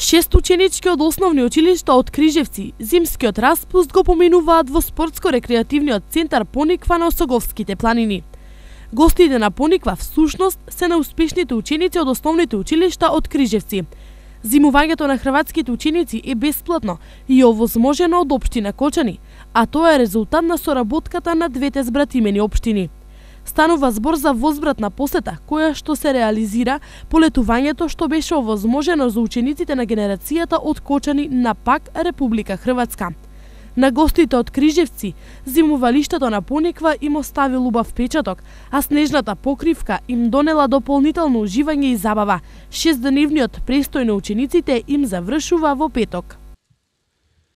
6 ученички од основни училишта од Крижевци зимскиот распуст го поминуваат во спортско-рекреативниот центар Пониква на Осоговските планини. Гостите на Пониква всушност се најуспешните ученици од основните училишта од Крижевци. Зимувањето на хрватските ученици е бесплатно и овозможено од општина Кочани, а тоа е резултат на соработката на двете збратимени општини. Станува збор за возвратна посета, која што се реализира по летувањето што беше овозможено за учениците на генерацијата од Кочани на пак Република Хрватска. На гостите од Крижевци, зимувалиштето на Пониква им остави убав печаток, а снежната покривка им донела дополнително уживање и забава. 6-деневниот престој на учениците им завршува во петок.